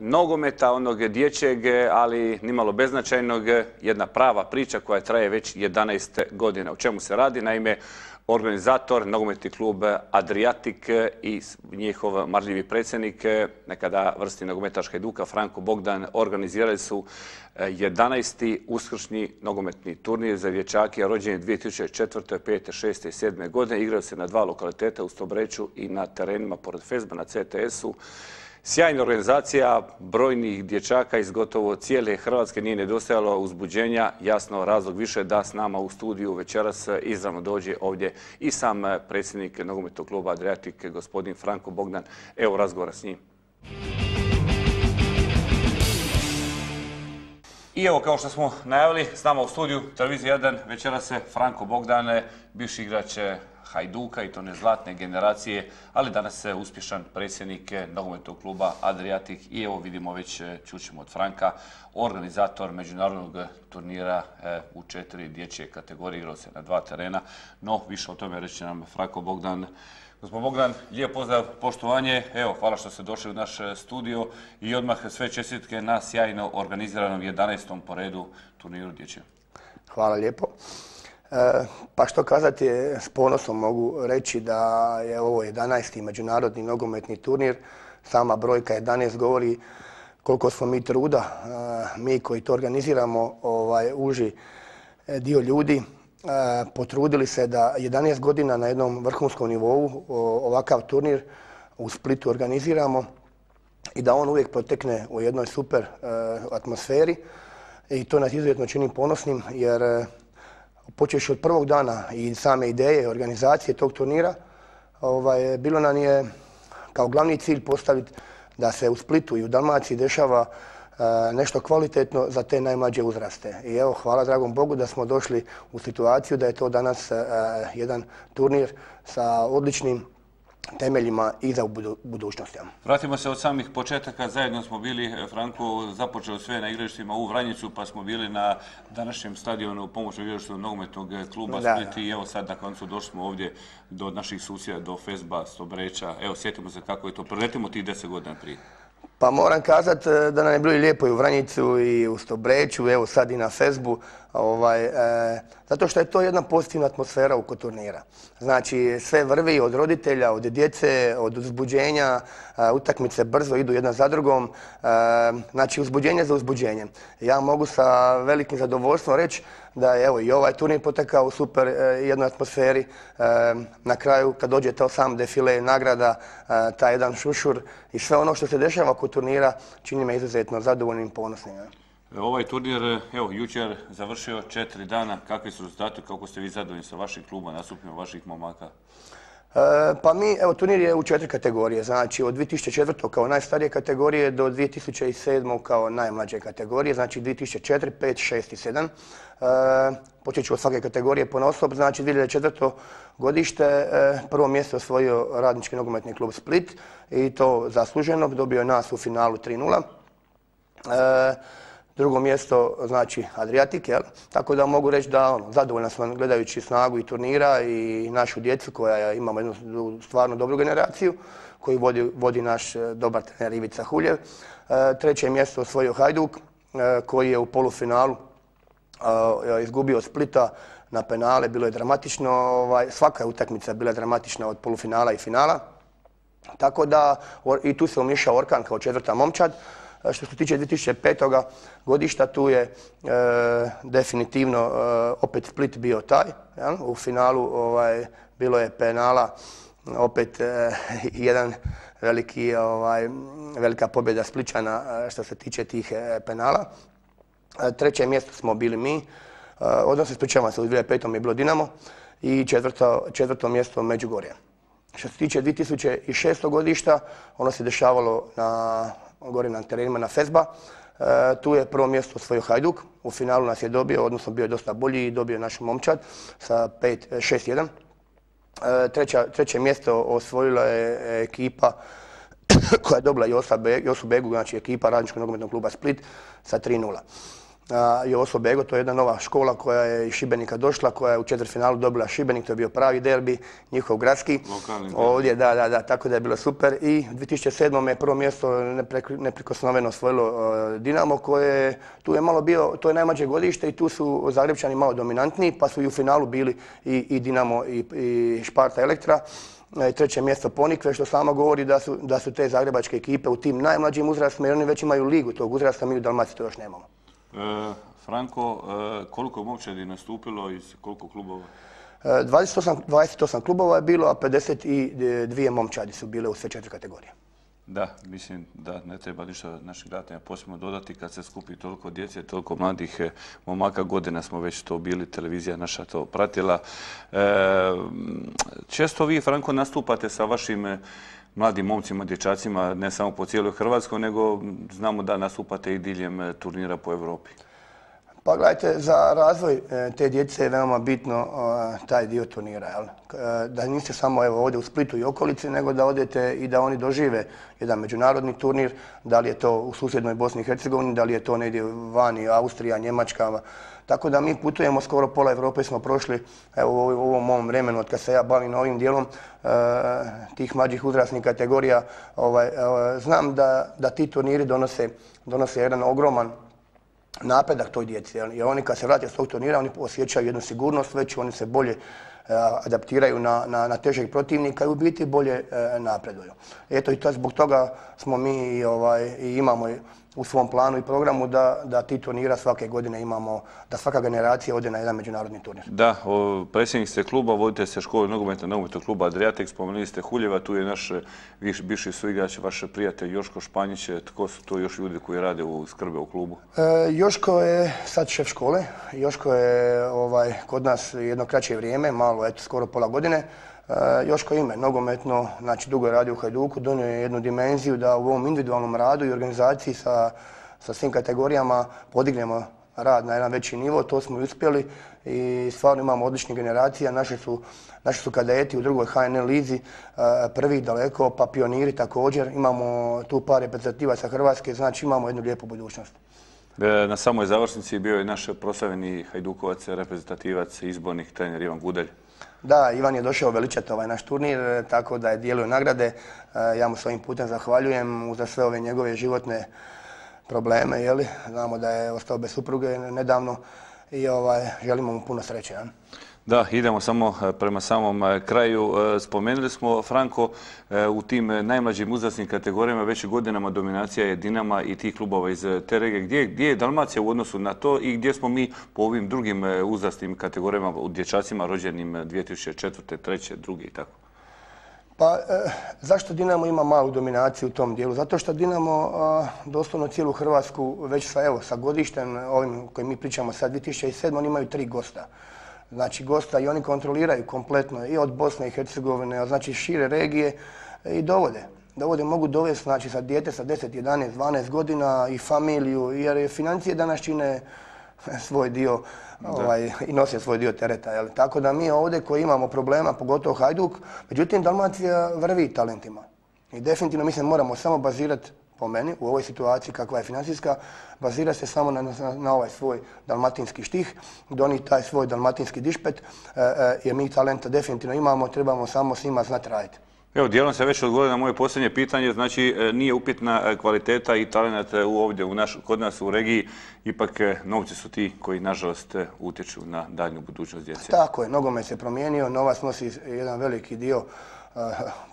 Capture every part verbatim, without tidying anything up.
nogometa, onog dječjeg, ali nimalo beznačajnog, jedna prava priča koja traje već jedanaest godina. O čemu se radi? Naime, organizator, nogometni klub Adriatik i njihov marljivi predsjednik, nekada vrsti nogometaš Hajduka, Franko Bogdan, organizirali su jedanaesti uskršnji nogometni turnir za dječake rođeni dvije tisuće četvrte, pete, šeste i sedme godine. Igraju se na dva lokaliteta, u Stobreču i na terenima pored Fesba na C T S-u. Sjajna organizacija brojnih dječaka iz gotovo cijele Hrvatske, nije nedostajalo uzbuđenja. Jasno, razlog više da s nama u studiju večeras izravno dođe ovdje i sam predsjednik nogometnog kluba Adriatik, gospodin Franko Bogdan. Evo razgovora s njim. I evo, kao što smo najavili, s nama u studiju Televizija jedan večeras se Franko Bogdan, bivši igrač Hajduka i to ne zlatne generacije, ali danas je uspješan predsjednik nogometnog kluba Adriatik i evo vidimo već, čućemo od Franka, organizator međunarodnog turnira u četiri dječje kategorije, igrao se na dva terena, no više o tome reći nam Franko Bogdan. Gospodin Bogdan, lijep pozdrav, poštovanje, evo, hvala što ste došli u naš studio i odmah sve čestitke na sjajno organiziranom jedanaestom po redu turniru dječjem. Hvala lijepo. Pa što kazati, s ponosom mogu reći da je ovo jedanaesti međunarodni nogometni turnir. Sama brojka jedanaest govori koliko smo mi truda, mi koji to organiziramo, ovaj, uži dio ljudi, potrudili se da jedanaest godina na jednom vrhunskom nivou ovakav turnir u Splitu organiziramo i da on uvijek protekne u jednoj super atmosferi i to nas izuzetno čini ponosnim jer počevši od prvog dana i same ideje organizacije tog turnira, ovaj, bilo nam je kao glavni cilj postaviti da se u Splitu i u Dalmaciji dešava e, nešto kvalitetno za te najmlađe uzraste. I evo, hvala dragom Bogu da smo došli u situaciju da je to danas e, jedan turnir sa odličnim temeljima i za budućnost. Vratimo se od samih početaka. Zajedno smo bili, Franko, započeo sve na igralištima u Vranjicu, pa smo bili na današnjem stadionu pomoćnog igrališta nogometnog kluba Split i evo sad na koncu došli smo ovdje do naših susjeda, do Fesba, Stobreča. Evo, sjetimo se kako je to. Preletimo tih deset godina prije. Pa moram kazati da nam je bilo lijepo i u Vranjicu i u Stobreču, evo sad i na Fesbu, ovaj, e, zato što je to jedna pozitivna atmosfera oko turnira. Znači sve vrvi od roditelja, od djece, od uzbuđenja, e, utakmice brzo idu jedna za drugom, e, znači uzbuđenje za uzbuđenjem. Ja mogu sa velikim zadovoljstvom reći da je evo, i ovaj turnir potekao u super e, jednoj atmosferi. E, na kraju kad dođe to sam defile nagrada, e, taj jedan šušur i sve ono što se dešava oko turnira čini me izuzetno zadovoljnim i ponosnim. Ja. Ovaj turnir, evo, jučer završio četiri dana. Kakvi su rezultati, kako ste vi zadovoljni sa vašim klubom, nastupima vaših momaka? E, pa mi, evo, turnir je u četiri kategorije, znači od dvije tisuće četvrte kao najstarije kategorije do dvije tisuće sedme kao najmlađe kategorije, znači dvije tisuće četiri, pet, šest i sedam. E, počet ću od svake kategorije ponaosob, znači dvije tisuće četvrte godište, e, prvo mjesto osvojio Radnički nogometni klub Split i to zasluženo, dobio je nas u finalu tri nula. E, Drugo mjesto, znači Adriatik, jel? Tako da mogu reći da ono, zadovoljna sam gledajući snagu i turnira i našu djecu koja imamo jednu stvarno dobru generaciju koju vodi, vodi naš dobar trener Ivica Huljev. E, treće mjesto osvojio Hajduk e, koji je u polufinalu e, izgubio od Splita na penale, bilo je dramatično, ovaj, svaka utakmica bila dramatična od polufinala i finala. Tako da i tu se umiješao Orkan kao četvrta momčad. Što se tiče dvije tisuće pete godišta, tu je e, definitivno e, opet Split bio taj. Ja? U finalu ovaj, bilo je penala, opet e, jedan veliki, ovaj, velika pobjeda Spličana što se tiče tih e, penala. E, treće mjesto smo bili mi, e, odnosno ispričavam se, u dvije tisuće pete je bilo Dinamo i četvrto, četvrto mjesto Međugorje. Što se tiče dvije tisuće šeste godišta, ono se dešavalo na gore na terenima na Fesba. E, tu je prvo mjesto osvojio Hajduk. U finalu nas je dobio, odnosno bio je dosta bolji i dobio naš momčad sa šest jedan. E, treća, treće mjesto osvojila je ekipa koja je dobila Josu Begu, znači ekipa Radničkog nogometnog kluba Split sa tri nula. i Oslo Bego, to je jedna nova škola koja je iz Šibenika došla, koja je u četvrtfinalu dobila Šibenik, to je bio pravi derbi, njihov gradski. Lokalni ovdje, da, da, da, tako da je bilo super. I u dvije tisuće sedmom je prvo mjesto neprikosnoveno osvojilo Dinamo, koje tu je malo bio, to je najmlađe godište i tu su Zagrebčani malo dominantniji, pa su i u finalu bili i, i Dinamo i, i Sparta Elektra. Treće mjesto Ponikve, što samo govori da su, da su te zagrebačke ekipe u tim najmlađim uzrastima, jer oni već imaju ligu tog uzrasta, mi u Dalmaciji to još nemamo. E, Franko, e, koliko je momčadi nastupilo iz koliko klubova? E, dvadeset osam, dvadeset osam klubova je bilo, a pedeset dvije momčadi su bile u sve četiri kategorije. Da, mislim da ne treba ništa našim gledateljima posebno dodati kad se skupi toliko djece, toliko mladih momaka. Godina smo već to bili, televizija naša to pratila. E, često vi, Franko, nastupate sa vašim mladim momcima, dječacima, ne samo po cijeloj Hrvatskoj, nego znamo da nastupate i diljem turnira po Europi. Pa gledajte, za razvoj te djece je veoma bitno taj dio turnira. Jel? Da niste samo evo, ovdje u Splitu i okolici, nego da odete i da oni dožive jedan međunarodni turnir, da li je to u susjednoj Bosni i Hercegovini, da li je to negdje vani, Austrija, Njemačka. Tako da mi putujemo, skoro pola Europe smo prošli evo, u ovom mom vremenu od kad se ja bavim ovim dijelom tih mlađih uzrasnih kategorija. Ovaj, znam da, da ti turniri donose, donose jedan ogroman napredak toj djeci. Jer oni kad se vrate s tog turnira, oni osjećaju jednu sigurnost već, oni se bolje adaptiraju na, na, na težeg protivnika i u biti bolje napreduju. Eto i to, zbog toga smo mi ovaj, i imamo u svom planu i programu da, da ti turnira svake godine imamo, da svaka generacija ode na jedan međunarodni turnir. Da, o, predsjednik ste kluba, vodite se škole nogometna nogometnog kluba Adriatik, spomenuli ste Huljeva, tu je naš viš, bivši suigrač, vaš prijatelj Joško Španjić. Tko su to još ljudi koji rade u skrbe u klubu? E, Joško je sad šef škole. Joško je ovaj, kod nas jedno kraće vrijeme, malo, eto, skoro pola godine. Joško ime, nogometno, znači dugo je radio u Hajduku, donio je jednu dimenziju da u ovom individualnom radu i organizaciji sa, sa svim kategorijama podignemo rad na jedan veći nivo, to smo i uspjeli i stvarno imamo odličnih generacija. Naši su, naši su kadeti u drugoj H N L lizi, prvi daleko, pa pioniri također. Imamo tu par reprezentativaca Hrvatske, znači imamo jednu lijepu budućnost. Na samoj završnici bio je naš proslavljeni Hajdukovac, reprezentativac, izbornik trener Ivan Gudelj. Da, Ivan je došao veličati ovaj naš turnir, tako da je dijelio nagrade. Ja mu s ovim putem zahvaljujem za sve ove njegove životne probleme. Jeli? Znamo da je ostao bez supruge nedavno i ovaj, želimo mu puno sreće. Ja? Da, idemo samo prema samom kraju. Spomenuli smo, Franko, u tim najmlađim uzrasnim kategorijama već godinama dominacija je Dinama i tih klubova iz te regije. Gdje, gdje je Dalmacija u odnosu na to i gdje smo mi po ovim drugim uzrasnim kategorijama u dječacima rođenim dvije tisuće četvrte, treće, druge i tako? Pa, e, zašto Dinamo ima malu dominaciju u tom dijelu? Zato što Dinamo a, doslovno cijelu Hrvatsku već sa, evo, sa godištem ovim kojim mi pričamo sad dvije tisuće sedme, oni imaju tri gosta. Znači gosta i oni kontroliraju kompletno i od Bosne i Hercegovine, znači šire regije i dovode. Dovode, mogu dovesti znači, sa dijete sa deset, jedanaest, dvanaest godina i familiju, jer financije danas čine svoj dio ovaj, i nose svoj dio tereta. Jel? Tako da mi ovdje koji imamo problema, pogotovo Hajduk, međutim Dalmacija vrvi talentima. I definitivno mislim moramo samo bazirati, po meni, u ovoj situaciji kakva je financijska, bazira se samo na, na, na ovaj svoj dalmatinski štih, donijeti taj svoj dalmatinski dišpet, e, e, jer mi talenta definitivno imamo, trebamo samo s njima znati raditi. Evo, dijelom se već odgovorio na moje posljednje pitanje, znači nije upitna kvaliteta i talent ovdje u naš, kod nas u regiji, ipak novci su ti koji nažalost utječu na daljnju budućnost djece. Tako je, nogomet se promijenio, novac nosi jedan veliki dio uh,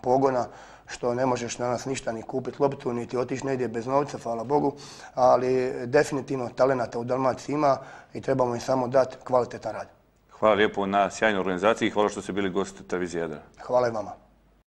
pogona, što ne možeš danas ništa ni kupiti loptu, niti otići negdje bez novca, hvala Bogu, ali definitivno talenata u Dalmaciji ima i trebamo im samo dati kvalitetan rad. Hvala lijepo na sjajnoj organizaciji i hvala što ste bili gost televizije Jadran. Hvala i vama.